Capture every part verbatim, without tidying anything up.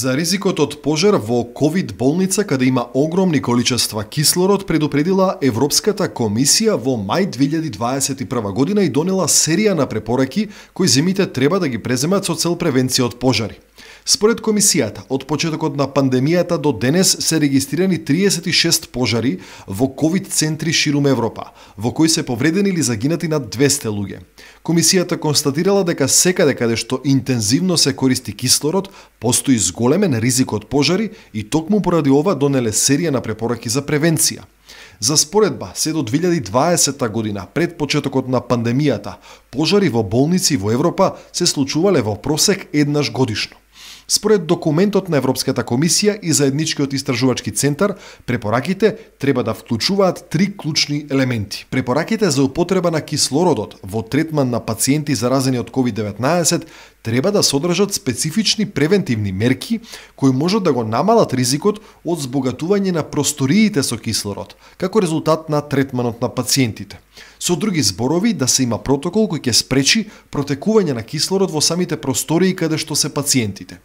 За ризикот од пожар во ковид болница каде има огромни количества кислород предупредила Европската комисија во мај две илјади дваесет и прва година и донела серија на препораки кои земите треба да ги преземат со цел превенција од пожари. Според комисијата, од почетокот на пандемијата до денес се регистрирани триесет и шест пожари во ковид центри ширум Европа, во кои се повредени или загинати над двесте луѓе. Комисијата констатирала дека секаде каде што интензивно се користи кислород, постои зголемен ризик од пожари и токму поради ова донеле серија на препораки за превенција. За споредба, се до две илјади дваесета година, пред почетокот на пандемијата, пожари во болници во Европа се случувале во просек еднаш годишно. Според документот на Европската комисија и заедничкиот истражувачки центар, препораките треба да вклучуваат три клучни елементи. Препораките за употреба на кислородот во третман на пациенти заразени од ковид деветнаесет треба да содржат специфични превентивни мерки кои можат да го намалат ризикот од збогатување на просториите со кислород, како резултат на третманот на пациентите. Со други зборови, да се има протокол кој ќе спречи протекување на кислород во самите простории каде што се пациентите.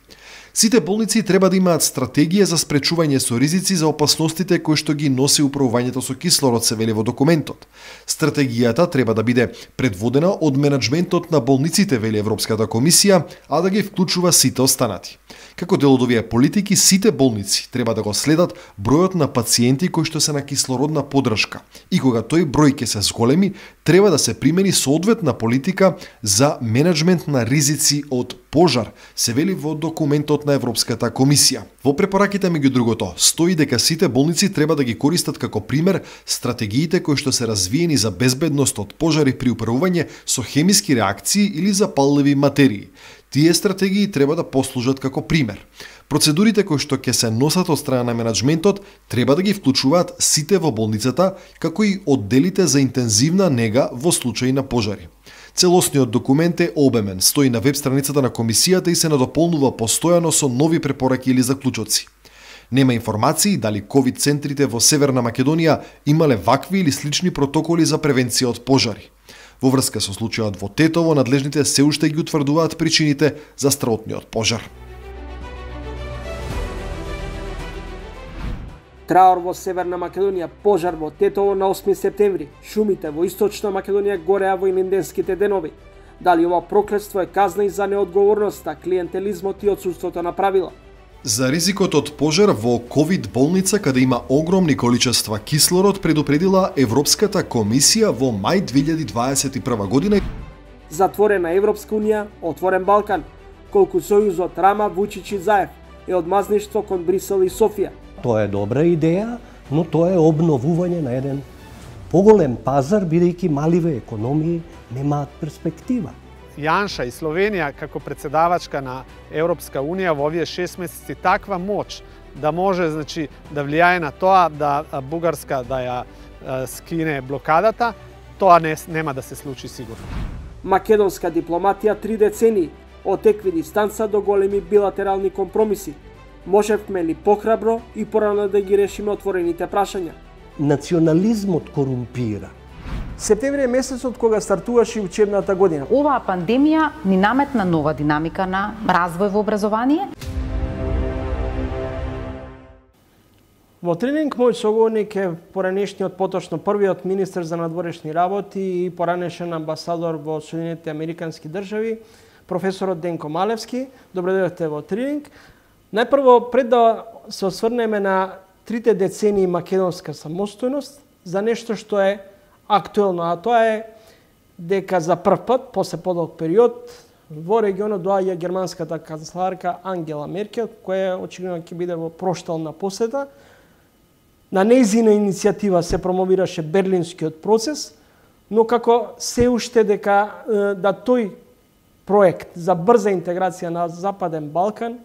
Сите болници треба да имаат стратегија за спречување со ризици за опасностите кои што ги носи управувањето со кислород, се вели во документот. Стратегијата треба да биде предводена од менаџментот на болниците, вели Европската комисија, а да ги вклучува сите останати. Како дел од овие политики, сите болници треба да го следат бројот на пациенти кои што се на кислородна поддршка и кога тој број ќе се зголеми, треба да се примени соодветна политика за менаџмент на ризици од пожар, се вели во документот на Европската комисија. Во препораките, меѓу другото, стои дека сите болници треба да ги користат како пример стратегиите кои што се развиени за безбедност од пожари при управување со хемиски реакции или запалливи материи. Тие стратегии треба да послужат како пример. Процедурите кои што ќе се носат од страна на менаџментот треба да ги вклучуваат сите во болницата, како и одделите за интензивна нега во случаи на пожари. Целосниот документ е обемен, стои на веб страницата на комисијата и се надополнува постојано со нови препораки или заклучоци. Нема информации дали ковид центрите во Северна Македонија имале вакви или слични протоколи за превенција од пожари. Во врска со случајот во Тетово, надлежните се уште ги утврдуваат причините за страотниот пожар. Траор во Северна Македонија, пожар во Тетово на осми септември. Шумите во Источна Македонија гореа во илинденските денови. Дали ова проклетство е казна и за неодговорноста, клиентелизмот и отсуството на правила? За ризикот од пожар во ковид болница каде има огромни количества кислород предупредила Европската комисија во мај две илјади дваесет и прва година. Затворена Европска унија, отворен Балкан, колку сојузот Рама, Вучич и Заев е одмазништво кон Брисел и Софија. Тоа е добра идеја, но тоа е обновување на еден поголем пазар, бидејќи маливе економии немаат перспектива. Јанша и Словенија како председавачка на Европска унија во овие шест месеци таква моќ да може, значи, да влијае на тоа да Бугарска да ја скине блокадата, тоа не, нема да се случи сигурно. Македонска дипломатија три децении, од екви дистанца до големи билатерални компромиси. Можевме ли похрабро и порано да ги решиме отворените прашања? Национализмот корумпира. Септември е месецот кога стартуваше учебната година. Оваа пандемија ни наметна нова динамика на развој во образование. Во тренинг мој соговорник е поранешниот, поточно првиот министер за надворешни работи и поранешен амбасадор во Соединетите Американски држави, професорот Денко Малевски. Добре дојдовте во тренинг. Најпрво, пред да се осврнеме на трите децении македонска самостојност за нешто што е актуелно, а тоа е дека за прв пат, после подолг период, во регионот доаѓа германската канцеларка Ангела Меркел, која очигледно ќе биде во проштална посета. На нејзина иницијатива се промовираше Берлинскиот процес, но како се уште дека да тој проект за брза интеграција на Западен Балкан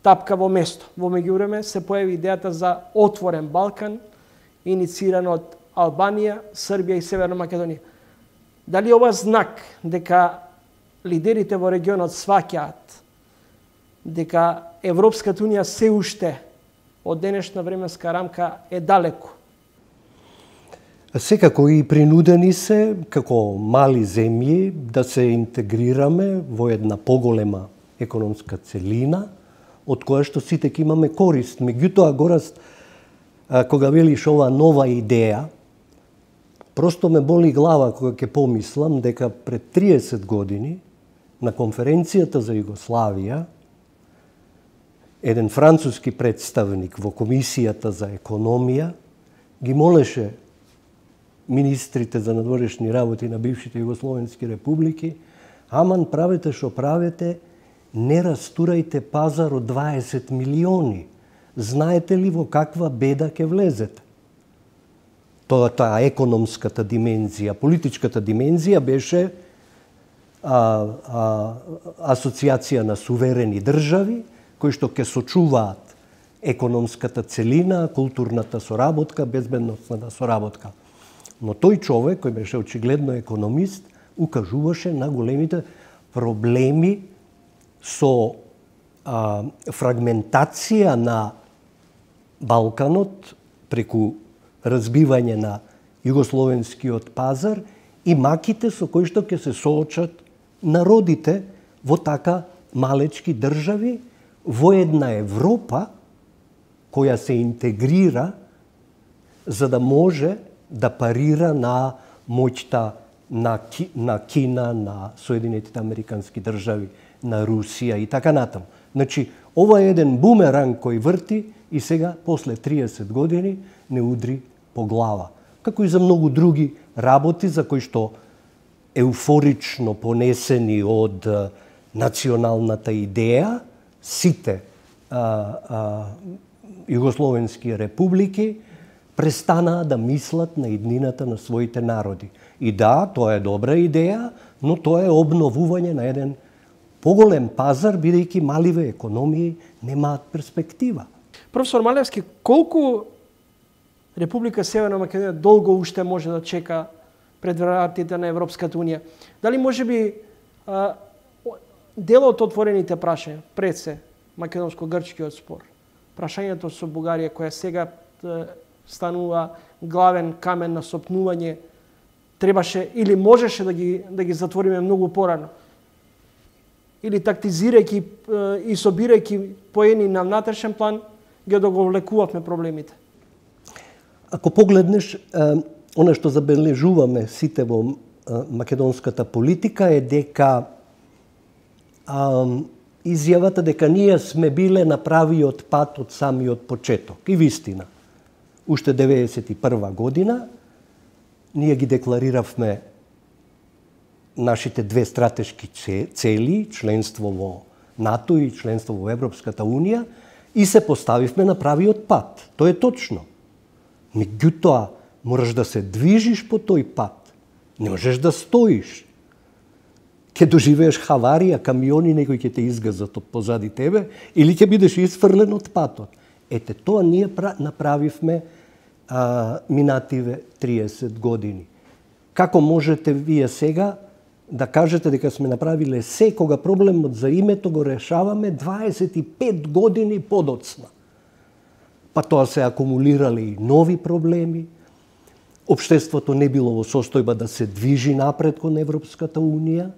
тапка во место. Во меѓувреме се појави идејата за отворен Балкан, иницииран од Албанија, Србија и Северна Македонија. Дали ова знак дека лидерите во регионот сваќаат дека Европската унија се уште од денешна временска рамка е далеку? Секако и принудени се, како мали земји, да се интегрираме во една поголема економска целина, од која што сите ќе имаме корист. Меѓутоа, Гораст, кога велиш ова нова идеја, просто ме боли глава кога ќе помислам дека пред триесет години на конференцијата за Југославија еден француски представник во Комисијата за економија ги молеше министрите за надворешни работи на бившите југословенски републики: аман, правете што правите, не растурајте пазар од дваесет милиони. Знаете ли во каква беда ќе влезете? Тоа таа економската димензија, политичката димензија беше а, а, асоциација на суверени држави кои што ќе сочуваат економската целина, културната соработка, безбедносната соработка. Но тој човек, кој беше очигледно економист, укажуваше на големите проблеми со а, фрагментација на Балканот преку разбивање на југословенскиот пазар и маките со кои што ќе се соочат народите во така малечки држави во една Европа која се интегрира за да може да парира на моќта на, Ки, на Кина, на Соединетите Американски држави, на Русија и така натаму. Значи, ова е еден бумеранг кој врти и сега, после триесет години, не удри по глава. Како и за многу други работи за кои што еуфорично понесени од а, националната идеја, сите а, а, југословенски републики престанаа да мислат на иднината на своите народи. И да, тоа е добра идеја, но тоа е обновување на еден поголем пазар, бидејќи маливе економии немаат перспектива. Професор Малевски, колку Република Северна Македонија долго уште може да чека пред вратите на Европската унија? Дали може би а, дел од отворените прашања, пред се македонско-грчкиот спор, прашањето со Бугарија, која сега а, станува главен камен на сопнување, требаше или можеше да ги, да ги затвориме многу порано? Или тактизирајќи и собирајќи поени на внатрешен план, ги одоговлекувавме проблемите? Ако погледнеш, она што забележуваме сите во македонската политика е дека а, изјавата дека ние сме биле на правиот пат од самиот почеток. И вистина, уште деветдесет и прва година ние ги деклариравме нашите две стратешки цели, членство во НАТО и членство во Европската унија, и се поставивме на правиот пат. Тоа е точно. Меѓутоа, мораш да се движиш по тој пат. Не можеш да стоиш. Ке доживееш хаварија, камиони некои ќе те изгазат од позади тебе, или ќе бидеш исфрлен од патот. Ете, тоа ние направивме а, минативе триесет години. Како можете вие сега да кажете дека сме направиле се, кога проблемот за името го решаваме дваесет и пет години подоцна? Па тоа се акумулирале и нови проблеми. Општеството не било во состојба да се движи напред кон Европската унија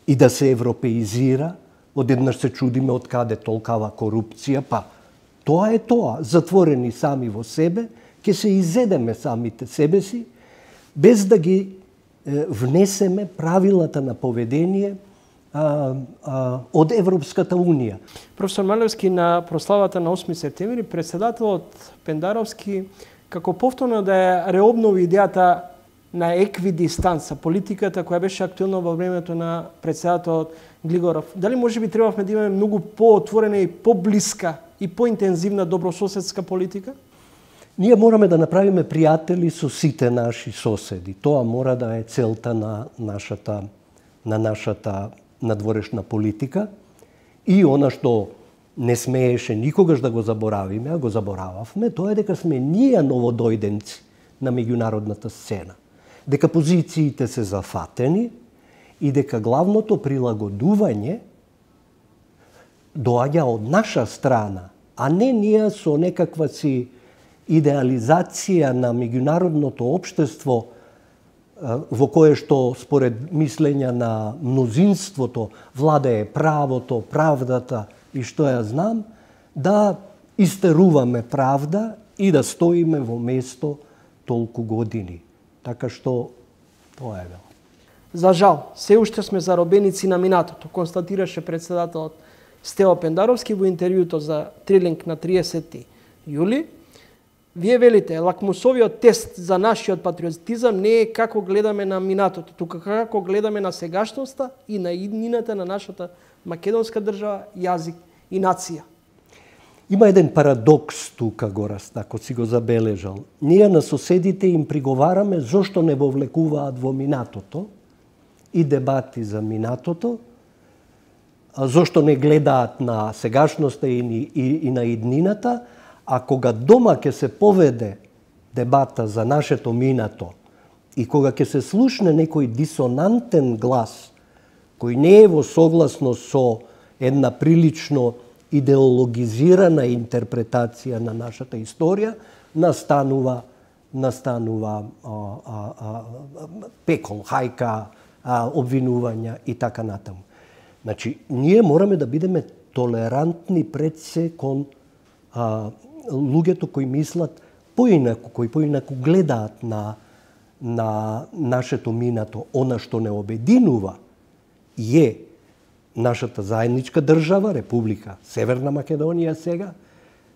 и да се европеизира. Одеднаш се чудиме од каде толкава корупција, па тоа е тоа. Затворени сами во себе, ќе се изедеме самите себе си, без да ги внесеме правилата на поведение а, а, од Европската Унија. Професор Малевски, на прославата на осми септември, председателот Пендаровски како повторно да ја реобнови идејата на еквидистанца, политиката која беше актуелна во времето на председателот Глигоров. Дали може би требавме да имаме многу поотворена и поблиска и поинтензивна добрососедска политика? Ние мораме да направиме пријатели со сите наши соседи. Тоа мора да е целта на нашата, на нашата надворешна политика. И она што не смееше никогаш да го заборавиме, а го заборававме, тоа е дека сме ние новодојденци на меѓународната сцена. Дека позициите се зафатени и дека главното прилагодување доаѓа од наша страна, а не ние со некаква си идеализација на меѓународното општество во кое што според мислења на мнозинството владее правото, правдата и што ја знам, да истеруваме правда и да стоиме во место толку години. Така што тоа е вел. За жал, се уште сме заробеници на минатото, констатираше председателот Стево Пендаровски во интервјуто за Трилинг на триесети јули. Вие велите, лакмусовиот тест за нашиот патриотизам не е како гледаме на минатото, туку како гледаме на сегашноста и на иднината на нашата македонска држава, јазик и нација. Има еден парадокс тука, Гораст, ако си го забележал. Ние на соседите им приговараме зошто не вовлекуваат во минатото и дебати за минатото, зошто не гледаат на сегашноста и, и, и на иднината, а кога дома ќе се поведе дебата за нашето минато и кога ќе се слушне некој дисонантен глас, кој не е во согласност со една прилично идеологизирана интерпретација на нашата историја, настанува настанува а, а, а, пекол, хајка, а, обвинувања и така натаму. Значи, ние мораме да бидеме толерантни пред се кон а, луѓето кои мислат поинаку, кои поинаку гледаат на, на нашето минато. Она што не обединува е нашата заедничка држава, Република Северна Македонија сега,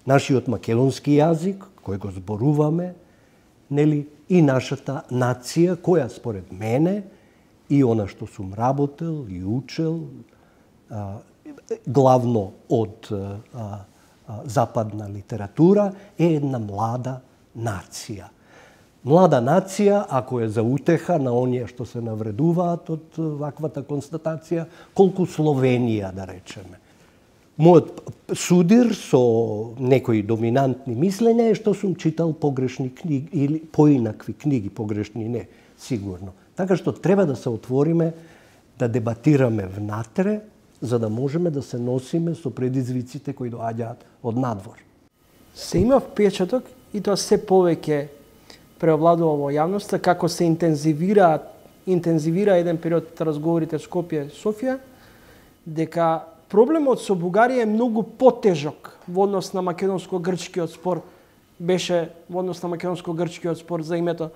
нашиот македонски јазик, кој го зборуваме, нели, и нашата нација, која според мене, и она што сум работел и учел, а, главно од а, а, западна литература, е една млада нација. Млада нација, ако е за утеха на оние што се навредуваат од ваквата констатација, колку Словенија, да речеме. Мојот судир со некои доминантни мислења е што сум читал погрешни книги, или поинакви книги, погрешни не, сигурно. Така што треба да се отвориме, да дебатираме внатре, за да можеме да се носиме со предизвиците кои доаѓаат од надвор. Се има впечаток, и тоа се повеќе преовладува во јавноста, како се интензивира, интензивира еден период разговорите Скопје и Софија, дека проблемот со Бугарија е многу потежок во однос на македонско-грчкиот спор, беше во однос на македонско-грчкиот спор за името.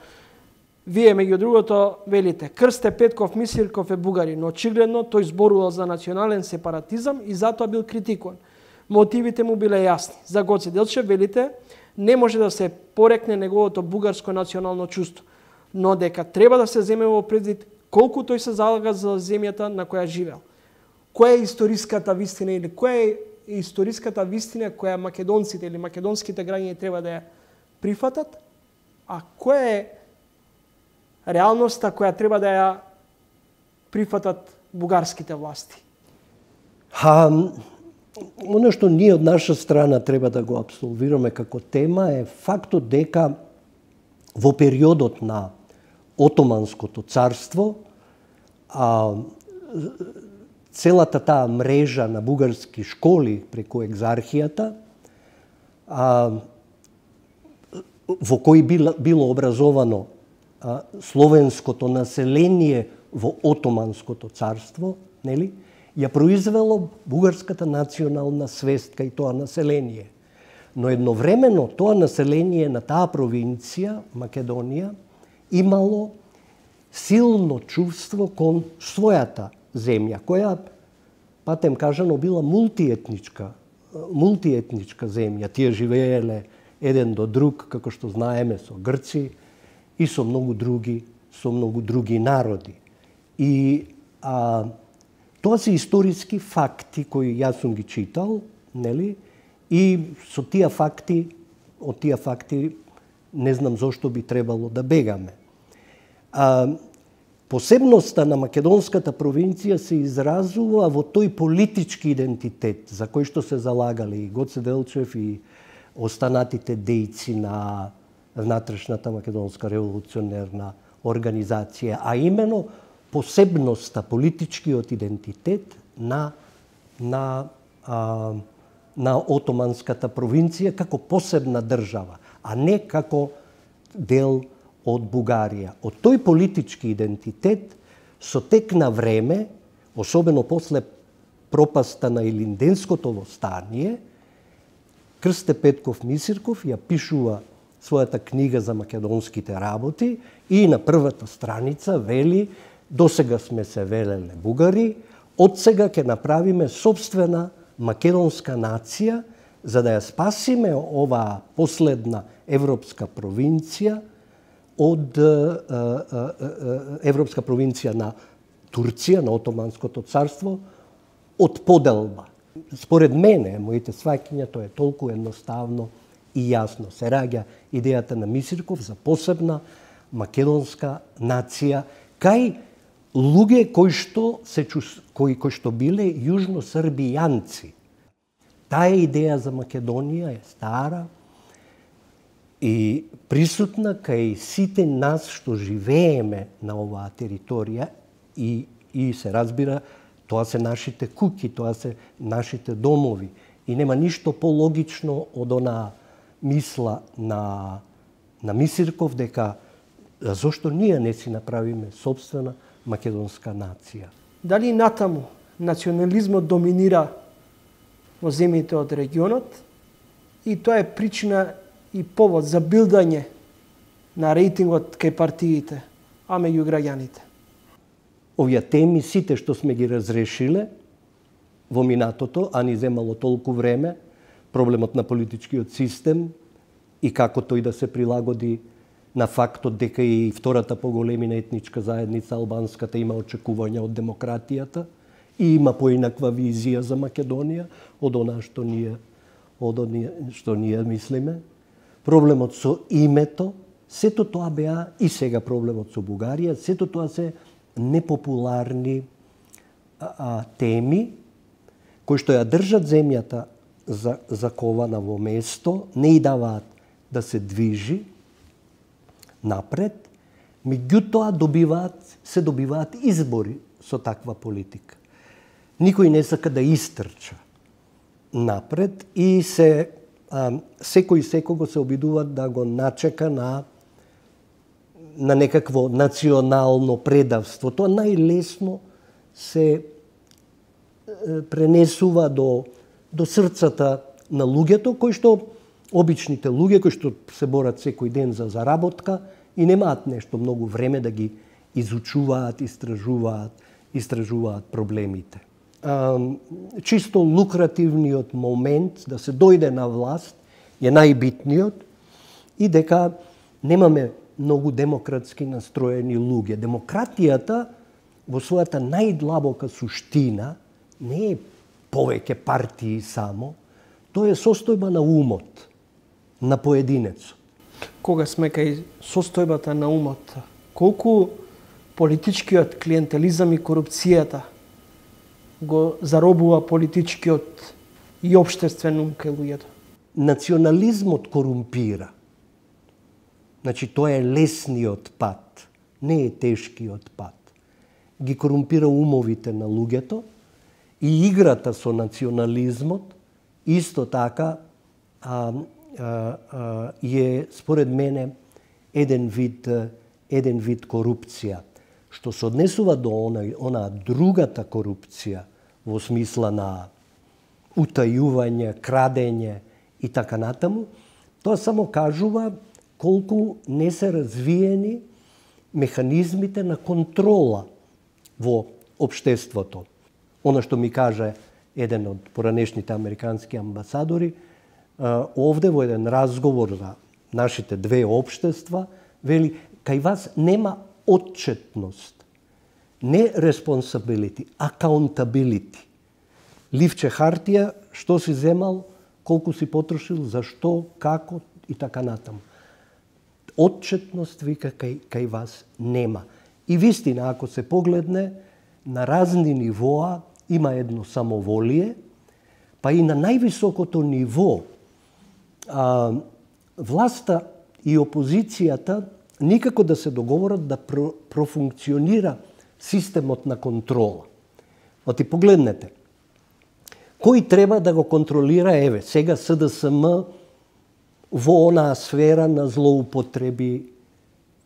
Вие, меѓу другото, велите, Крсте Петков Мисирков е бугарин, но очигледно тој зборувал за национален сепаратизам и затоа бил критикуван. Мотивите му биле јасни. За Гоце Делчев велите, не може да се порекне неговото бугарско национално чувство, но дека треба да се земе во предвид колку тој се залага за земјата на која живеел. Која е историската вистина или која е историската вистина која македонците или македонските граѓани треба да ја прифатат, а која е реалноста која треба да ја прифатат бугарските власти? Ха, оно што ние од наша страна треба да го абсолвираме како тема е фактот дека во периодот на Отоманското царство а, целата таа мрежа на бугарски школи преку екзархијата а, во кои било, било образовано а, словенското население во Отоманското царство, нели, ја произвело бугарската национална свест кај тоа население. Но едновремено тоа население на таа провинција, Македонија, имало силно чувство кон својата земја, која патем кажано, била мултиетничка, мултиетничка земја. Тие живееле еден до друг, како што знаеме, со Грци и со многу други, со многу други народи. И а, тоа се историски факти кои јас сум ги читал, нели? И со тие факти, од тие факти не знам зошто би требало да бегаме. А, посебноста на македонската провинција се изразува во тој политички идентитет за кој што се залагали и Гоце Делчев и останатите дејци на внатрешната македонска револуционерна организација, а именно посебноста, политичкиот идентитет на на а, на отоманската провинција како посебна држава, а не како дел од Бугарија. Од тој политички идентитет со тек на време, особено после пропаста на Илинденското востание, Крсте Петков Мисирков ја пишува својата книга за македонските работи и на првата страница вели: досега сме се велеле бугари, од сега ќе направиме собствена македонска нација за да ја спасиме оваа последна европска провинција од европска провинција на Турција, на Отоманското царство, од поделба. Според мене, моите сваќања, тоа е толку едноставно и јасно. Се раѓа идејата на Мисирков за посебна македонска нација кај луѓе кои што се кои кои што биле јужносрбијанци. Таа идеја за Македонија е стара и присутна кај сите нас што живееме на оваа територија и и се разбира, тоа се нашите куќи, тоа се нашите домови и нема ништо пологично од онаа мисла на на Мисирков дека зошто ние не си направиме собствена македонска нација. Дали натаму национализмот доминира во земјите од регионот и тоа е причина и повод за билдање на рейтингот кај партиите, а меѓу граѓаните? Овие теми сите што сме ги разрешиле во минатото, а ни земало толку време, проблемот на политичкиот систем и како тој да се прилагоди на фактот дека и втората поголемина етничка заедница, албанската, има очекувања од демократијата и има поинаква визија за Македонија од она што ние од оние што ние мислиме. Проблемот со името, сето тоа беа и сега проблемот со Бугарија, сето тоа се непопуларни а, а, теми кои што ја држат земјата за, закована во место, не и даваат да се движи напред, меѓутоа добиваат, се добиваат избори со таква политика. Никој не сака да истрча напред и се а, секој секого се обидува да го начека на на некакво национално предавство. Тоа најлесно се пренесува до до срцата на луѓето кои што обичните луѓе кои што се борат секој ден за заработка и немаат нешто многу време да ги изучуваат, истражуваат, истражуваат проблемите. А, чисто лукративниот момент да се дојде на власт е најбитниот и дека немаме многу демократски настроени луѓе. Демократијата во својата најдлабока суштина не е повеќе партии само, тоа е состојба на умот на поединецот. Кога сме кај состојбата на умот, колку политичкиот клиентелизам и корупцијата го заробува политичкиот и општествен ум кај луѓето? Национализмот корумпира. Значи, тоа е лесниот пат, не е тешкиот пат. Ги корумпира умовите на луѓето и играта со национализмот исто така а, а, а, е, според мене, еден вид, еден вид корупција. Што се однесува до она, она другата корупција во смисла на утајување, крадење и така натаму, тоа само кажува колку не се развиени механизмите на контрола во општеството. Оно што ми каже еден од поранешните американски амбасадори, овде во еден разговор за нашите две општества, вели, кај вас нема отчетност, не responsibility, accountability. Ливче хартија, што си земал, колку си потрошил, зашто, како и така натаму. Отчетност, вика, кај, кај вас нема. И вистина, ако се погледне, на разни нивоа има едно самоволие, па и на највисокото ниво а, власта и опозицијата никако да се договорат да про, профункционира системот на контрола. Оти погледнете, кој треба да го контролира, еве, сега С Д С М во онаа сфера на злоупотреби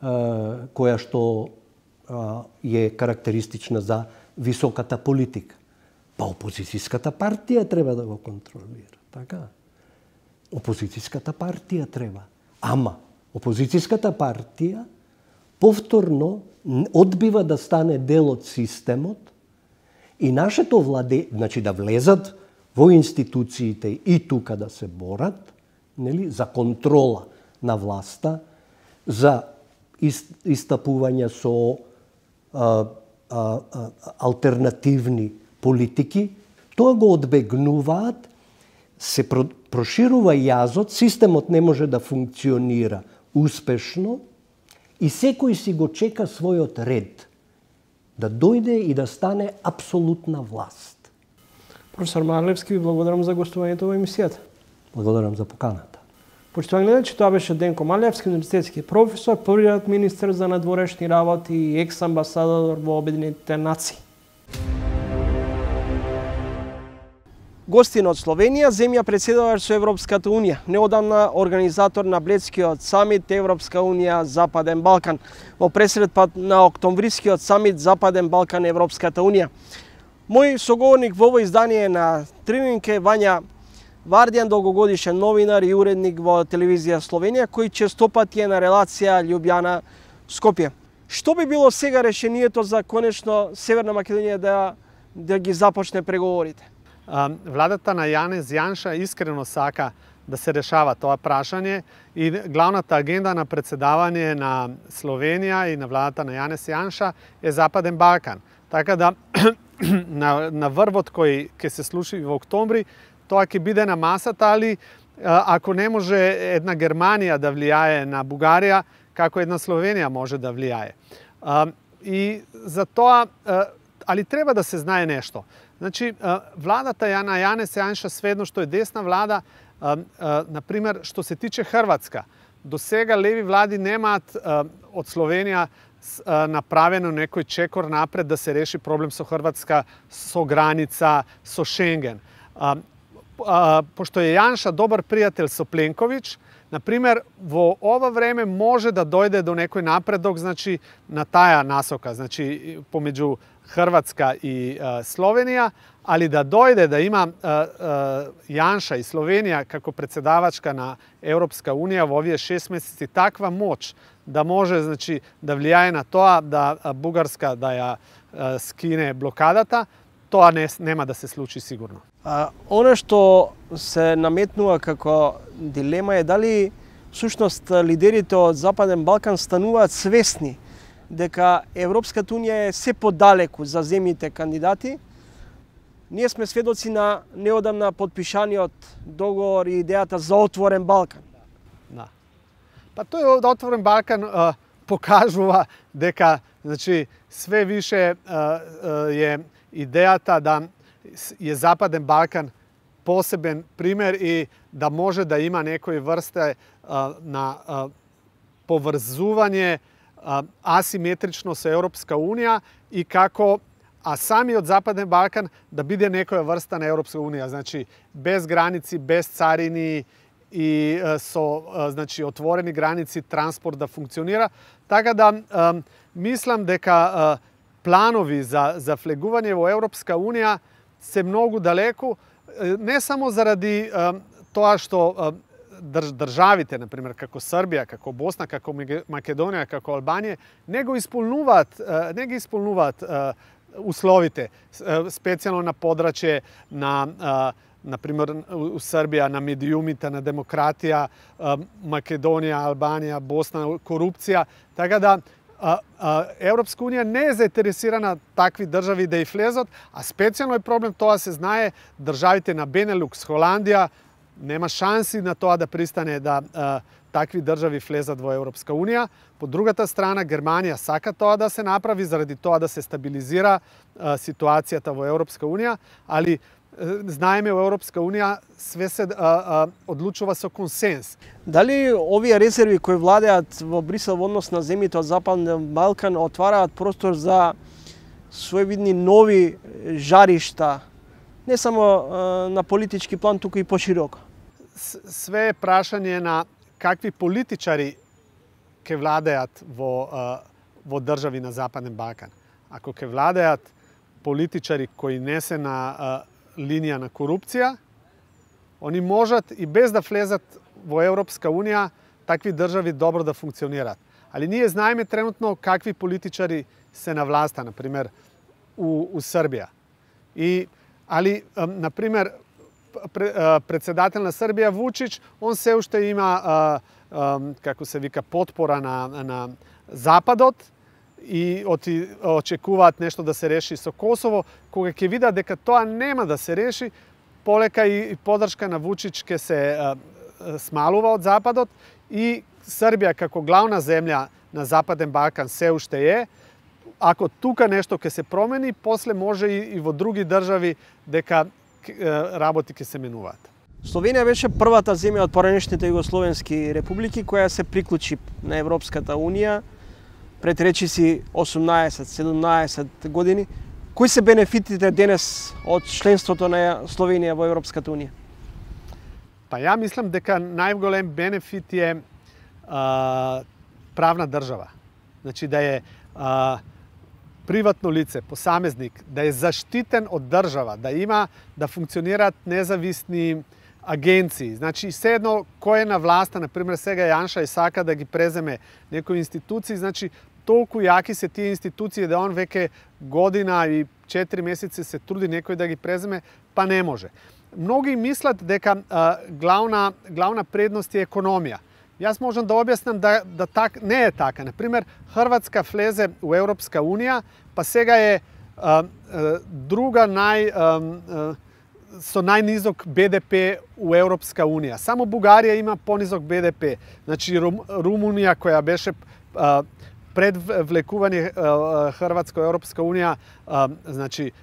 а, која што а, е карактеристична за високата политика. Па опозицијската партија треба да го контролира, така? Опозицијската партија треба. Ама, опозицијската партија повторно одбива да стане дел од системот и нашето владе, значи да влезат во институциите и тука да се борат, нели, за контрола на власта, за истапување со а, а, а, алтернативни политики, тоа го одбегнуваат, се проширува јазот, системот не може да функционира успешно и секој си го чека својот ред да дојде и да стане апсолутна власт. Професор Марлевски, ви благодарам за гостувањето во емисијата. Благодарам за поканата. Почитувани гледачи, тоа беше Денко Марлевски, универзитетски професор, првиот министер за надворешни работи и екс-амбасадор во Обединетите нации. Гостин од Словенија, земја председавач со Европската Унија, неодамна организатор на Бледскиот самит Европска Унија Западен Балкан, во пресредпат на октомврискиот самит Западен Балкан Европската Унија. Мој соговорник во ово издание на Трининг е Вања Вардијан, долгогодишен новинар и уредник во телевизија Словенија, кој честопати е на релација Љубљана-Скопје. Што би било сега решението за конечно Северна Македонија да, да ги започне преговорите? Владата на Јанез Јанша искрено сака да се решава тоа прашање и главната агенда на председавање на Словенија и на владата на Јанез Јанша е Западен Балкан. Така да на, на врвот кој ќе се случи во октомври, тоа ќе биде на масата, али ако не може една Германија да влијае на Бугарија, како една Словенија може да влијае. И за тоа, али треба да се знае нешто. Значи, владата на Јанез Јанша, сведно што е десна влада, например, што се тиче Хрватска, до сега леви влади немаат од Словенија направено некој чекор напред да се реши проблем со Хрватска, со граница, со Шенген. Пошто е Јанша добар пријател со Пленковиќ, например, во ова време може да дојде до некој напредок, значи, на таа насока, значи, помеѓу Хрватска и а, Словенија, али да дојде да има а, а, Јанша и Словенија како председавачка на Европска Унија во овие шест месеци таква моќ да може, значи, да влијае на тоа да Бугарска да ја а, скине блокадата, тоа не, нема да се случи сигурно. А, оно што се наметнува како дилема е дали всушност лидерите од Западен Балкан стануваат свесни дека Европската Унија е се подалеку за земјите кандидати. Ние сме сведоци на неодамна подпишаниот договор и идејата за отворен Балкан. Да. Па тој отворен Балкан а, покажува дека, значи, све више а, а, е идејата да е Западен Балкан посебен пример и да може да има некои врсте а, на а, поврзување а, асиметрично со Европска Унија и како а самиот Западен Балкан да биде некоја врста на Европска Унија, значи без граници, без царини и а, со а, значи отворени граници, транспорт да функционира, така да а, мислам дека а, планови за за влегување во Европска Унија се многу далеку, не само заради а, тоа што а, држ, државите, например, како Србија, како Босна, како Македонија, како Албанија, не го исполнуваат, а, не ги исполнуваат а, условите, специјално на подрачје на на пример у Србија на медиумите, на демократија, Македонија, Албанија, Босна, корупција, така да А, а, Европска унија не е заинтересирана такви држави да и влезат, а специјално е проблем, тоа се знае, државите на Бенелукс, Холандија, нема шанси на тоа да пристане да а, такви држави влезат во Европска унија. По другата страна, Германија сака тоа да се направи, заради тоа да се стабилизира а, ситуацијата во Европска унија, али знаеме во Европска унија све се а, а, одлучува со консенс. Дали овие резерви кои владеат во Брисел во однос на земјите од Западен Балкан отвараат простор за своевидни нови жаришта, не само а, на политички план, туку и пошироко? Све е прашање на какви политичари ќе владеат во, а, во држави на Западен Балкан. Ако ќе владеат политичари кои не се на а, линија на корупција, они можат и без да влезат во Европска унија такви држави добро да функционираат. Али ние знаеме тренутно какви политичари се на власта, на пример у, у Србија. И али на пример председател на Србија Вучич, он се уште има а, а, како се вика потпора на на Западот, и оти, очекуваат нешто да се реши со Косово, кога ќе видат дека тоа нема да се реши, полека и, и подршка на Вучич ќе се а, смалува од Западот и Србија како главна земја на Западен Балкан се уште е. Ако тука нешто ќе се промени, после може и, и во други држави дека работи ќе се менуваат. Словенија беше првата земја од поранешните југословенски републики која се приклучи на Европската унија пред речиси осумнаесет-седумнаесет години. Кои се бенефитите денес од членството на Словенија во Европската унија? Па ја мислам дека најголем бенефит е а, правна држава. Значи да е а, приватно лице, посамезник, да е заштитен од држава, да има, да функционираат независни агенции. Значи, седно кој е на власта, например, сега Јанша и сака да ги преземе некои институции, значи, толку јаки се тие институции да он веќе година и четири месеци се труди некој да ги преземе, па не може. Многи мислат дека а, главна, главна предност е економија. Јас можам да објаснам да, да так, не е така. Например, Хрватска влезе у Европска унија, па сега е а, а, друга нај... А, а, со најнизок Б Д П у Европска унија. Само Бугарија има понизок Б Д П. Значи Рум, Румунија која беше а, пред влекување Хрватска во Европска унија, а, значи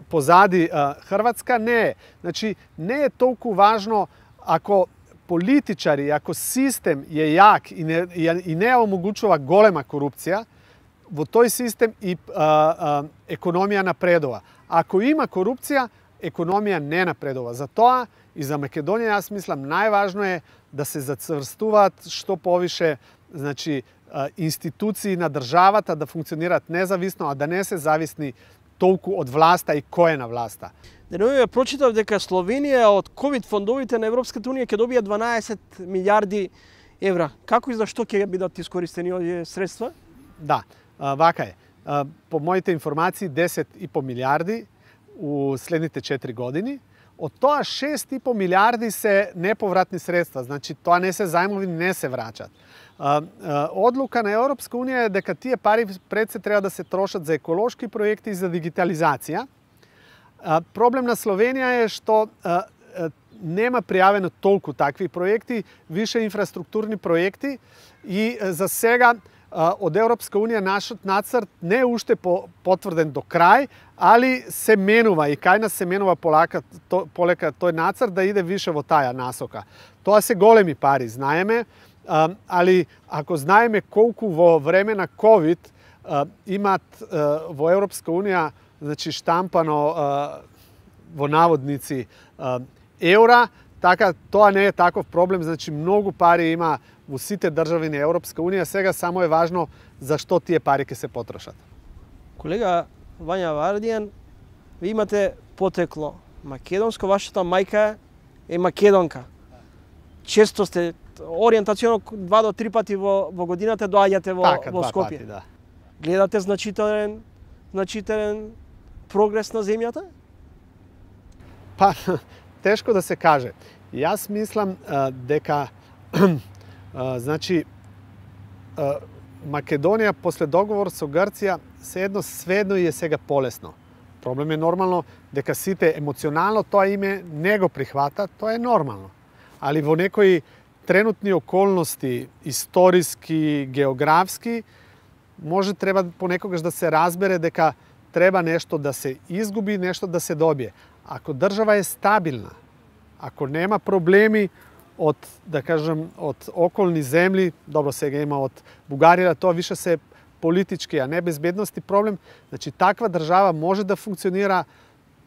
позади а, Хрватска не е. Значи не е толку важно ако политичари, ако систем е јак и не, и не омогучува голема корупција, во тој систем и а, а, економија напредува. Ако има корупција, економија не напредува. Затоа и за Македонија јас мислам најважно е да се зацврстуваат што повише, значи институции на државата да функционираат независно, а да не се зависни толку од власта и кој е на власта. Деновиве прочитав дека Словенија од ковид фондовите на Европската унија ќе добија дванаесет милијарди евра. Како и зашто ќе бидат искористени овие средства? Да, вака е. По моите информации десет и по милијарди у следните четири години. Од тоа шест и по милијарди се неповратни средства, значи тоа не се зајмови, не се враќат. Одлука на Европска унија е дека тие пари пред се треба да се трошат за еколошки проекти и за дигитализација. Проблем на Словенија е што нема пријавено толку такви проекти, више инфраструктурни проекти и за сега од Европска унија нашиот нацрт не е уште потврден до крај, али се менува и кај нас се менува полека, то, полека тој нацрт да иде више во таа насока. Тоа се големи пари, знаеме, али ако знаеме колку во време на ковид имат во Европска унија, значи штампано во наводници еура, така тоа не е таков проблем, значи многу пари има во сите држави на Европска унија, сега само е важно за што тие пари ќе се потрошат. Колега Вања Вардијан, ви имате потекло македонско, вашата мајка е македонка. Често сте ориентационо два до три пати во, во годината доаѓате во, така, во Скопје. Пати, да. Гледате значителен значителен прогрес на земјата? Па, тешко да се каже. Јас мислам а, дека а, значи а, Македонија после договор со Грција седно сведно и е сега полесно. Проблем е нормално дека сите емоционално тоа име не го прихвата, тоа е нормално. Али во некои тренутни околности, историски, географски, може треба понекогаш да се разбере дека треба нешто да се изгуби, нешто да се добие. Ако држава е стабилна, ако нема проблеми од, да кажем, од околни земји, добро сега има од Бугарија, тоа више се политички, а не безбедности проблем, значи таква држава може да функционира,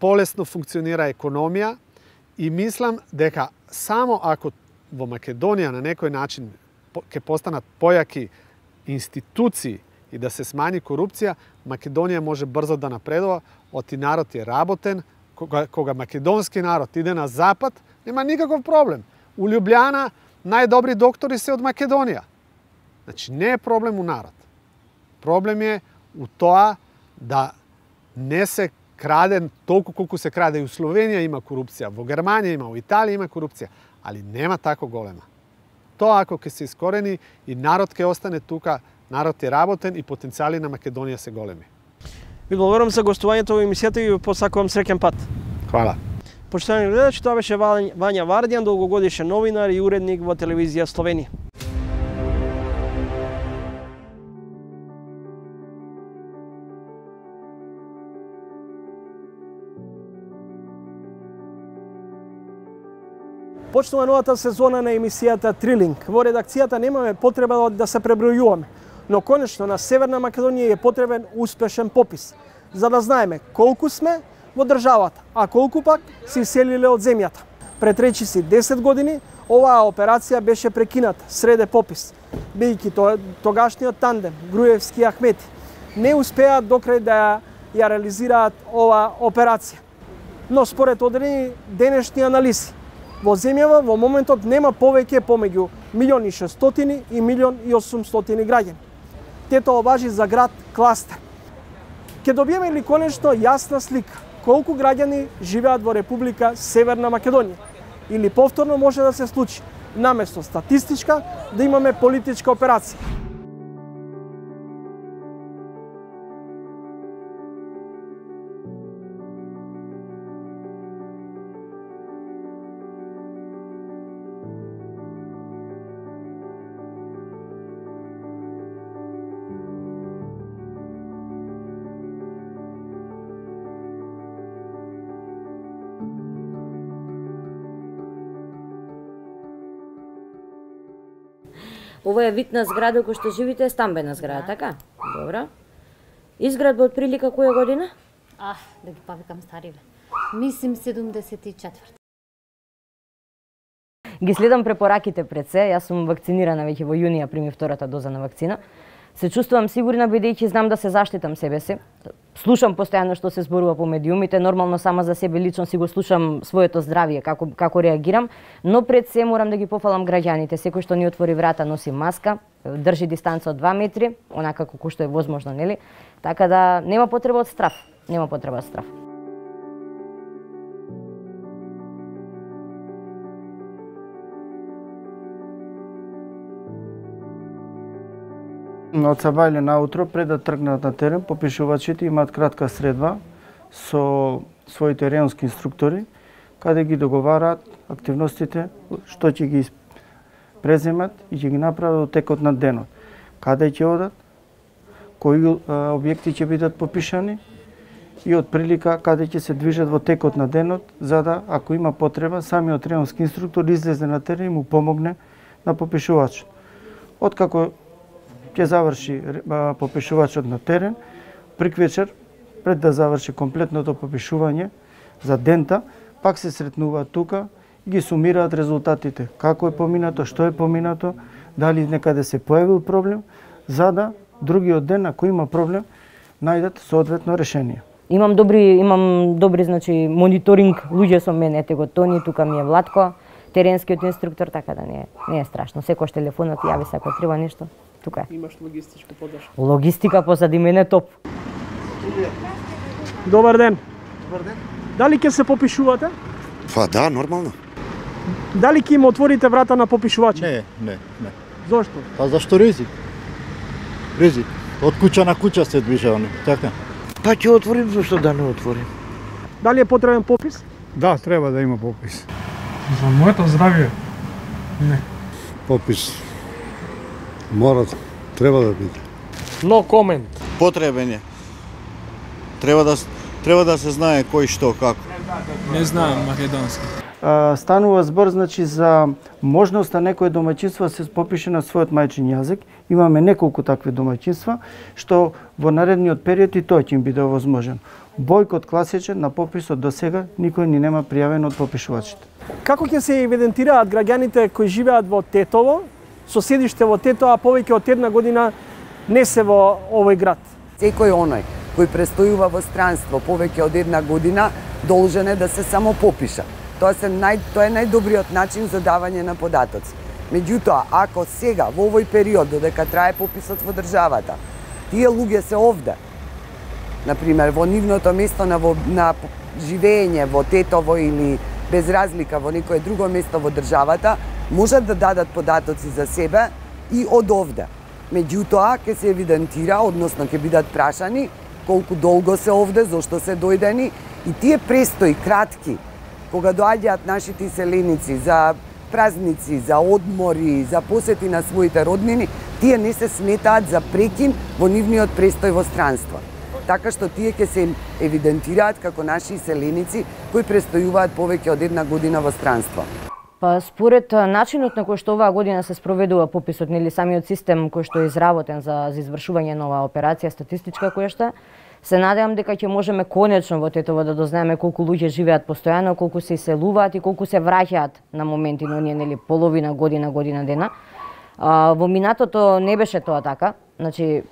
полесно функционира економија и мислам дека само ако во Македонија на некој начин ќе постанат појаки институции и да се смани корупција, Македонија може брзо да напредува, оти народ е работен, кога, кога македонски народ иде на запад, нема никаков проблем. У Лјубљана најдобри доктори се од Македонија. Значи не е проблем у народ. Проблем е у тоа да не се краде толку колку се краде. И у Словенија има корупција, во Германија има, во Италија има корупција, али нема тако голема. Тоа ако ќе се искорени и народ ќе остане тука, народ е работен и потенцијали на Македонија се големи. Ви благодарам за гостувањето во емисијата и ви посакувам среќен пат. Хвала. Почитувани гледачи, тоа беше Вања Вардијан, долгогодишен новинар и уредник во телевизија Словенија. Почнува новата сезона на емисијата Трилинг. Во редакцијата немаме потреба да се пребројуваме, но конечно на Северна Македонија е потребен успешен попис, за да знаеме колку сме во државата, а колку пак се иселиле од земјата. Пред речиси десет години оваа операција беше прекината среде попис, бидејќи тогашниот тандем Груевски и Ахмети не успеаат докрај да ја реализираат оваа операција. Но според одредени денешни анализи, во земјава во моментот нема повеќе помеѓу милион и шестстотини и милион и осумстотини граѓани. Тето важи за град Кластер. Ке добиеме ли конечно јасна слика колку граѓани живеат во Република Северна Македонија? Или повторно може да се случи, наместо статистичка, да имаме политичка операција? Ова е вид на зграда кој што живите, е стамбена зграда, така? Добро. Изградба од прилика која година? Ах, да ги повикам стариве. Мислим седумдесет и четврта. Ги следам препораките пред се, јас сум вакцинирана веќе во јунија, примив втората доза на вакцина. Се чувствувам сигурна бидејќи знам да се заштитам себе си. Слушам постојано што се зборува по медиумите, нормално сама за себе лично си го слушам своето здравје, како како реагирам, но пред се морам да ги пофалам граѓаните. Секој што ни отвори врата носи маска, држи дистанца од два метри, онака како што е возможно, нели? Така да нема потреба од страф, нема потреба од страф. Од сабајле наутро, пред да тргнат на терен, попишувачите имаат кратка средба со своите реонски инструктори, каде ги договараат активностите, што ќе ги преземат и ќе ги направат во текот на денот. Каде ќе одат, кои објекти ќе бидат попишани и од прилика каде ќе се движат во текот на денот, за да, ако има потреба, самиот реонски инструктор излезе на терен и му помогне на попишувачот. Откако ќе заврши попишувачот на терен, приквечер, пред да заврши комплетното попишување за дента, пак се сретнуваат тука и ги сумираат резултатите. Како е поминато, што е поминато, дали некаде се појавил проблем, за да другиот ден, ако има проблем, најдат соодветно решение. Имам добри, имам добри, значи, мониторинг луѓе со мене, ете го Тони, тука ми е Владко, теренскиот инструктор, така да не е, не е страшно. Секој телефонот јави се ако треба нешто. Тука е. Имаш логистичка поддршка. Логистика позади мене топ. Добар ден. Добар ден. Дали ќе се попишувате? Па да, нормално. Дали ќе им отворите врата на попишувачи? Не, не, не. Зошто? Па зашто ризик? Ризик. Од куќа на куќа се движеваме, така? Па ќе отворим, зашто да не отворим? Дали е потребен попис? Да, треба да има попис. За моето здравје? Не. Попис мора, треба да биде. Но комент. Потребен е. Треба да треба да се знае кој што како. Не знаам македонски. Станува збор значи за можноста некој домаќинство се попише на својот мајчин јазик. Имаме неколку такви домаќинства што во наредниот период и тоа ќе им биде овозможен. Бојкот класичен на пописот до сега никој ни нема пријавен од попишувачите. Како ќе се евидентираат граѓаните кои живеат во Тетово, со седиште во Тетово, а повеќе од една година не се во овој град? Секој оној кој престојува во странство повеќе од една година должен е да се само попиша. Тоа, се нај, тоа е најдобриот начин за давање на податоци. Меѓутоа, ако сега, во овој период, додека трае пописот во државата, тие луѓе се овде, например, во нивното место на, во, на живење во Тетово или без разлика во некое друго место во државата, можат да дадат податоци за себе и од овде. Меѓутоа, ќе се евидентира, односно ќе бидат прашани колку долго се овде, зошто се дојдени и тие престои кратки, кога доаѓаат нашите иселеници за празници, за одмори, за посети на своите роднини, тие не се сметаат за прекин во нивниот престој во странство. Така што тие ќе се евидентираат како наши иселеници кои престојуваат повеќе од една година во странство. Па според начинот на кој што оваа година се спроведува пописот, нели самиот систем кој што е изработен за, за извршување на оваа операција статистичка која што се надевам дека ќе можеме конечно во Тетово да дознаеме колку луѓе живеат постојано, колку се иселуваат и колку се враќаат на моменти на оние нели половина година, година дена. А, во минатото не беше тоа така. Значи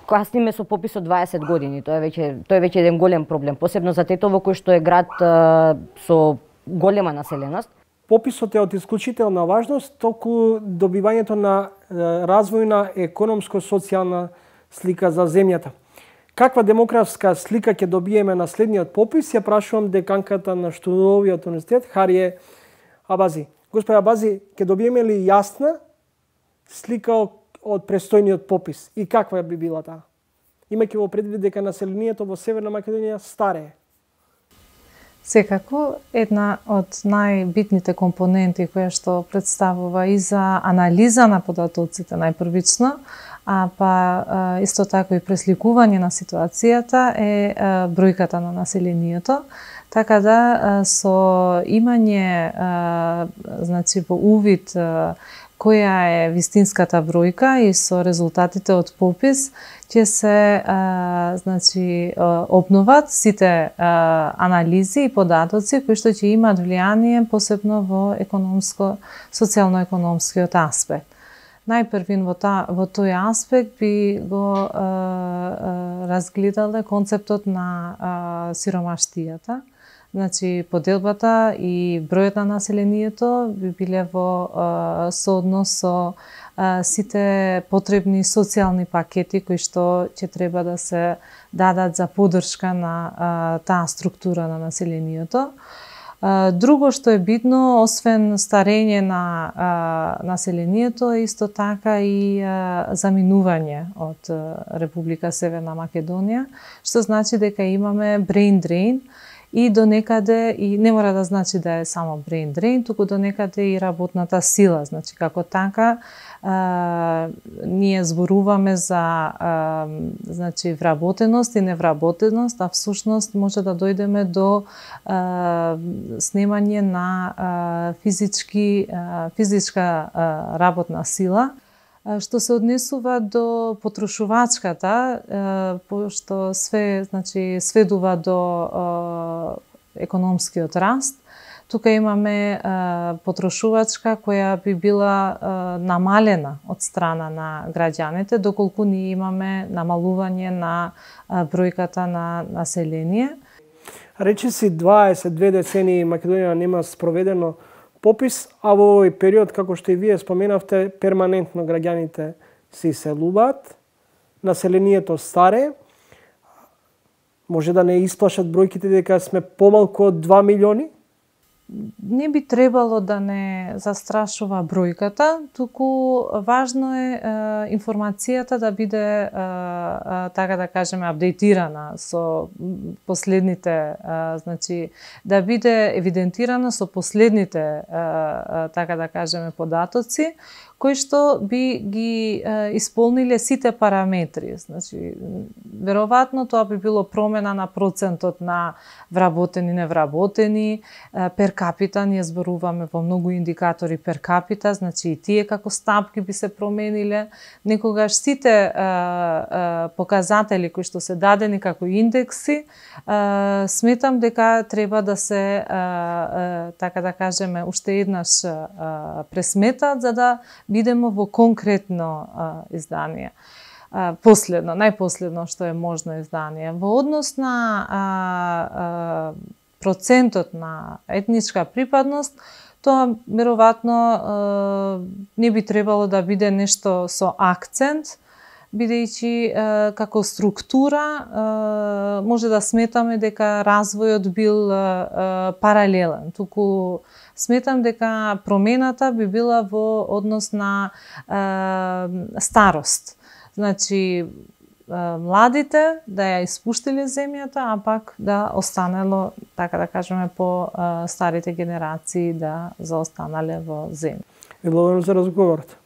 касниме со пописот дваесет години. Тоа е веќе тоа е веќе еден голем проблем, посебно за Тетово кој што е град а, со голема населеност. Пописот е од исклучителна важност толку добивањето на развојна економско-социјална слика за земјата. Каква демографска слика ќе добиеме на следниот попис, ја прашувам деканката на Штудовиот универзитет Харие Абази. Господи Абази, ќе добиеме ли јасна слика од престојниот попис и каква би била таа? Имајќи во предвид дека населението во Северна Македонија старее. Секако, една од најбитните компоненти која што представува и за анализа на податоците најпрвично, а па исто така и пресликување на ситуацијата е бројката на населението, така да со имање значи во увид која е вистинската бројка и со резултатите од попис ќе се а, значи обноват сите а, анализи и податоци кои што ќе имаат влијание посебно во економско социјално-економскиот аспект. Најпрвин во, та, во тој аспект би го а, а, разгледале концептот на а, сиромаштијата. Значи, поделбата и бројот на населението би биле во а, сооднос со а, сите потребни социјални пакети кои што ќе треба да се дадат за поддршка на а, таа структура на населението. А, друго што е битно, освен старење на а, населението, е исто така и а, заминување од а, Република Северна Македонија, што значи дека имаме brain drain, и до некаде, и не мора да значи да е само brain drain, туку до некаде и работната сила. Значи, како така, а, ние зборуваме за а, значи, вработеност и невработеност, а всушност може да дојдеме до а, снемање на а, физички, а, физичка а, работна сила. Што се однесува до потрошувачката, пошто све, значи, сведува до економскиот раст, тука имаме потрошувачка која би била намалена од страна на граѓаните, доколку ние имаме намалување на бројката на население. Речи си дваесет две децении Македонија нема спроведено попис, а во овој период, како што и вие споменавте, перманентно граѓаните се иселуваат, населението старе. Може да не исплашат бројките дека сме помалку од два милиони? Не би требало да не застрашува бројката, туку важно е, е информацијата да биде е, е, така да кажеме апдейтирана со последните, е, значи да биде евидентирана со последните е, е, така да кажеме податоци кои што би ги е, исполниле сите параметри. Значи, веројатно тоа би било промена на процентот на вработени и невработени, е, пер капита, ние зборуваме во многу индикатори пер капита, значи и тие како стапки би се промениле. Некогаш сите е, е, показатели кои што се дадени како индекси, е, сметам дека треба да се, е, е, така да кажеме, уште еднаш е, пресметат, за да бидеме во конкретно а, издание. А, последно, најпоследно што е можно издание. Во однос на а, а, процентот на етничка припадност, тоа веројатно не би требало да биде нешто со акцент, бидејќи е, како структура е, може да сметаме дека развојот бил е, е, паралелен. Туку сметам дека промената би била во однос на е, старост. Значи, е, младите да ја испуштиле земјата, а пак да останело, така да кажеме, по е, старите генерации да заостанале во земја. Ви благодарам за разговорот.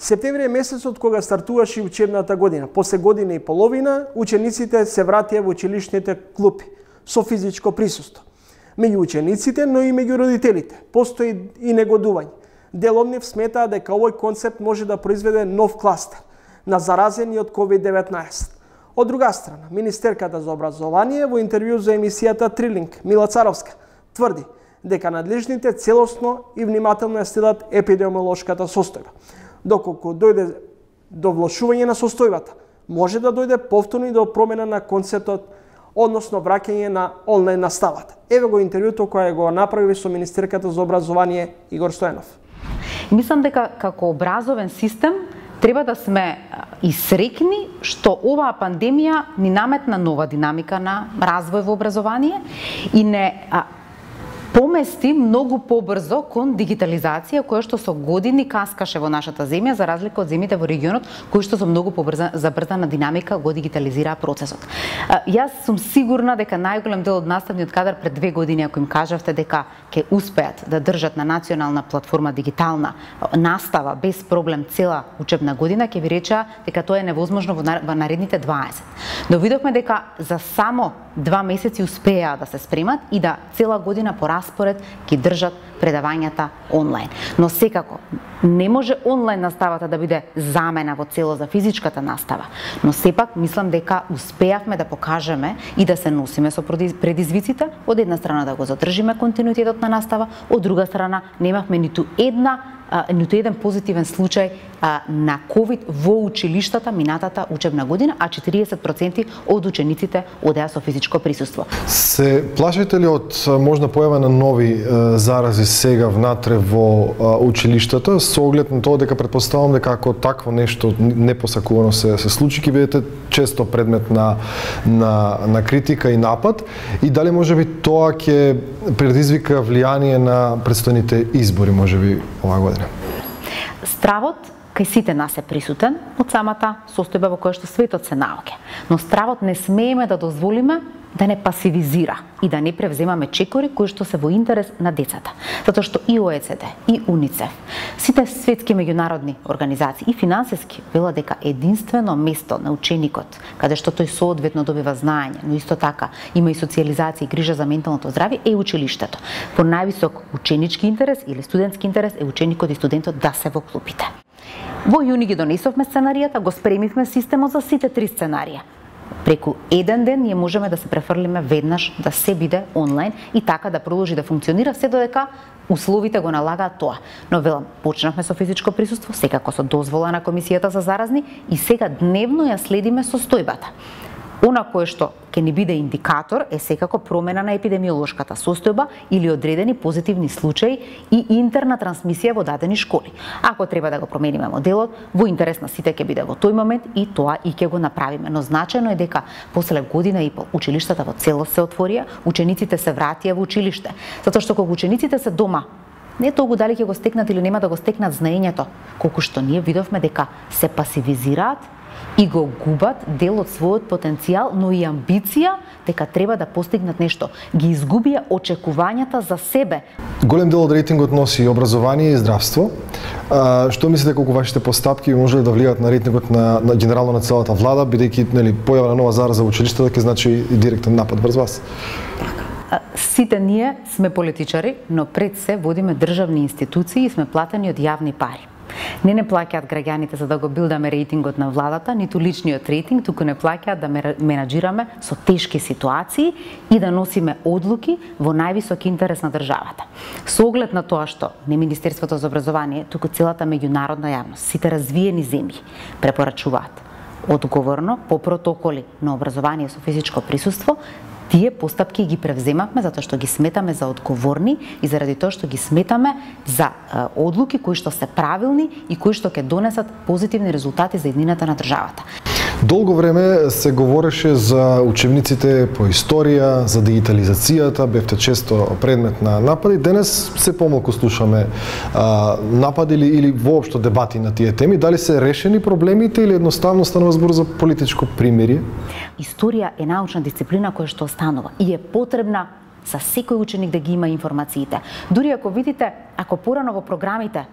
Септември е месецот кога стартуваше учебната година. После година и половина, учениците се вратија во училишните клупи со физичко присуство. Меѓу учениците, но и меѓу родителите, постои и негодување. Дел од нив сметаа дека овој концепт може да произведе нов кластер на заразени од ковид деветнаесет. Од друга страна, министерката за образование во интервју за емисијата Трилинг, Мила Царовска, тврди дека надлежните целосно и внимателно ја следат епидемиолошката состојба. Доколку дојде до влошување на состојбата, може да дојде повторно и до промена на концептот, односно враќање на онлайн наставата. Еве го интервјуто кое го направи со министерката за образование Игор Стојанов. Мислам дека како образовен систем треба да сме и среќни што оваа пандемија ни наметна нова динамика на развој во образование и не а, помести многу побрзо кон дигитализација која што со години каскаше во нашата земја за разлика од земјите во регионот кои што со многу побрза забрзана динамика го дигитализираа процесот. А, јас сум сигурна дека најголем дел од наставниот кадар пред две години ако им кажавте дека ќе успеат да држат на национална платформа дигитална настава без проблем цела учебна година, ќе ви речеа дека тоа е невозможно во наредните дваесет. Но видовме дека за само два месеци успеа да се спремат и да цела година по распоред ги држат предавањата онлайн. Но секако, не може онлайн наставата да биде замена во цело за физичката настава, но сепак мислам дека успеавме да покажеме и да се носиме со предизвиците, од една страна да го задржиме континуитетот на настава, од друга страна немавме ниту една ниту еден позитивен случај а, на ковид во училиштата минатата учебна година, а четириесет проценти од учениците одеа со физичко присуство. Се плашите ли од можна појава на нови е, зарази сега внатре во е, училиштата, со оглед на тоа дека претпоставувам дека ако такво нешто непосакувано се се случи, ќе бидете често предмет на на на критика и напад, и дали можеби тоа ќе предизвика влијание на претстојните избори можеби оваа година? Стравот кај сите нас е присутен од самата состојба во која што светот се наоѓа. Но стравот не смееме да дозволиме да не пасивизира и да не превземаме чекори кои што се во интерес на децата. Затоа што и О Е Це Де, и УНИЦЕФ, сите светски меѓународни организации и финансиски велат дека единствено место на ученикот, каде што тој соодветно добива знаење, но исто така има и социјализација и грижа за менталното здравје, е училиштето. По највисок ученички интерес или студентски интерес е ученикот и студентот да се во клупите. Во јуни ги донесовме сценаријата, го спремивме системот за сите три сценарија. Преку еден ден ние можеме да се префрлиме веднаш да се биде онлайн и така да продолжи да функционира се додека условите го налагаат тоа. Но велам, почнавме со физичко присуство, секако со дозвола на Комисијата за заразни и сега дневно ја следиме состојбата. Она кое што ќе ни биде индикатор е секако промена на епидемиолошката состојба или одредени позитивни случаи и интерна трансмисија во дадени школи. Ако треба да го промениме моделот, во интерес на сите ќе биде во тој момент и тоа и ќе го направиме. Но значајно е дека после година и пол училиштата во целост се отворија, учениците се вратија во училиште, затоа што кога учениците се дома, не толку дали ќе го стекнат или нема да го стекнат знаењето, колку што ние видовме дека се пасивизираат и го губат дел од својот потенцијал, но и амбиција дека треба да постигнат нешто. Ги изгубија очекувањата за себе. Голем дел од рейтингот носи образование и здравство. А, што мислите колку вашите постапки може да влијаат на рейтингот на, на генерално на целата влада, бидејќи нели појава на нова зараза во училиштето ќе значи и директен напад врз вас? Сите ние сме политичари, но пред се водиме државни институции и сме платени од јавни пари. Не не плаќаат граѓаните за да го билдаме рейтингот на владата, ниту личниот рейтинг, туку не плаќаат да менаџираме со тешки ситуации и да носиме одлуки во највисок интерес на државата. Со оглед на тоа што не Министерството за образование, туку целата меѓународна јавност, сите развиени земји препорачуваат одговорно по протоколи на образование со физичко присуство, тие постапки ги превземавме затоа што ги сметаме за одговорни и заради тоа што ги сметаме за е, одлуки кои што се правилни и кои што ќе донесат позитивни резултати за иднината на државата. Долго време се говореше за учебниците по историја, за дигитализацијата, бевте често предмет на напади. Денес се помалку слушаме а, напади или, или воопшто дебати на тие теми. Дали се решени проблемите или едноставно станува збор за политичко примирие? Историја е научна дисциплина која што останува и е потребна за секој ученик да ги има информациите. Дури ако видите, ако порано во програмите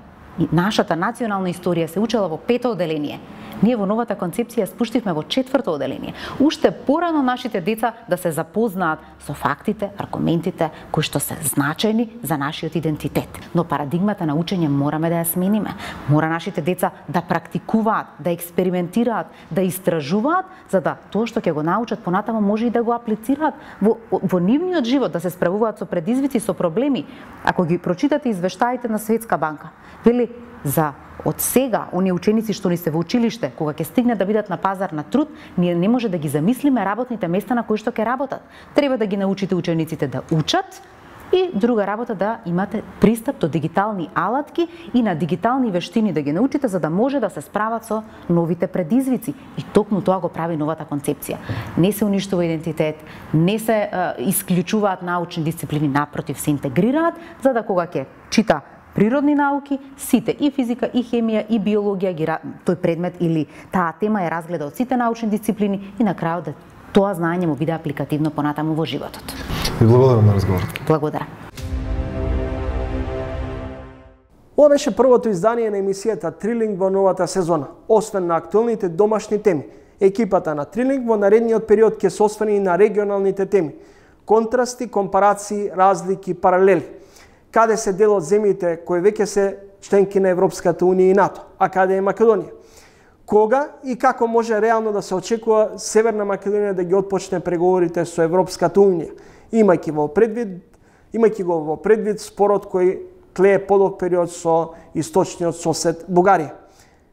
нашата национална историја се учела во пето оделение, ние во новата концепција спуштивме во четврто оделение. Уште порано нашите деца да се запознаат со фактите, аргументите кои што се значајни за нашиот идентитет. Но парадигмата на учење мораме да ја смениме. Мора нашите деца да практикуваат, да експериментираат, да истражуваат, за да тоа што ќе го научат понатаму може и да го аплицираат во, во нивниот живот, да се справуваат со предизвици, со проблеми. Ако ги прочитате извештаите на Светска банка, вели за од сега оние ученици што ни се во училиште, кога ќе стигнат да бидат на пазар на труд, ние не може да ги замислиме работните места на кои што ќе работат. Треба да ги научите учениците да учат и друга работа да имате пристап до дигитални алатки и на дигитални вештини да ги научите за да може да се справат со новите предизвици. И токму тоа го прави новата концепција. Не се уништува идентитет, не се е, исклучуваат научни дисциплини, напротив се интегрираат, за да кога ќе чита природни науки, сите и физика, и хемија, и биологија, ги, тој предмет или таа тема ја разгледа од сите научни дисциплини и на крајот да тоа знаење му биде апликативно понатаму во животот. Ви благодарам на разговорот. Благодарам. Ова беше првото издание на емисијата Трилинг во новата сезона. Освен на актуелните домашни теми, екипата на Трилинг во наредниот период ќе се освени и на регионалните теми. Контрасти, компарации, разлики, паралели. Каде се дел од земјите кои веќе се членки на Европската унија и НАТО, а каде е Македонија? Кога и како може реално да се очекува Северна Македонија да ги отпочне преговорите со Европската унија, имајќи во предвид, имајќи го во предвид спорот кој тлее подолг период со источниот сосед Бугарија.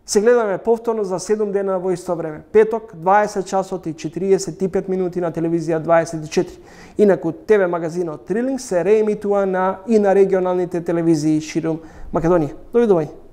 Се гледаме повторно за седум дена во исто време. Петок, дваесет часот и четириесет и пет минути на телевизија дваесет и четири. Инаку ТВ магазинот Трилинг се реемитува на и на регионалните телевизии ширум Македонија. Довидување.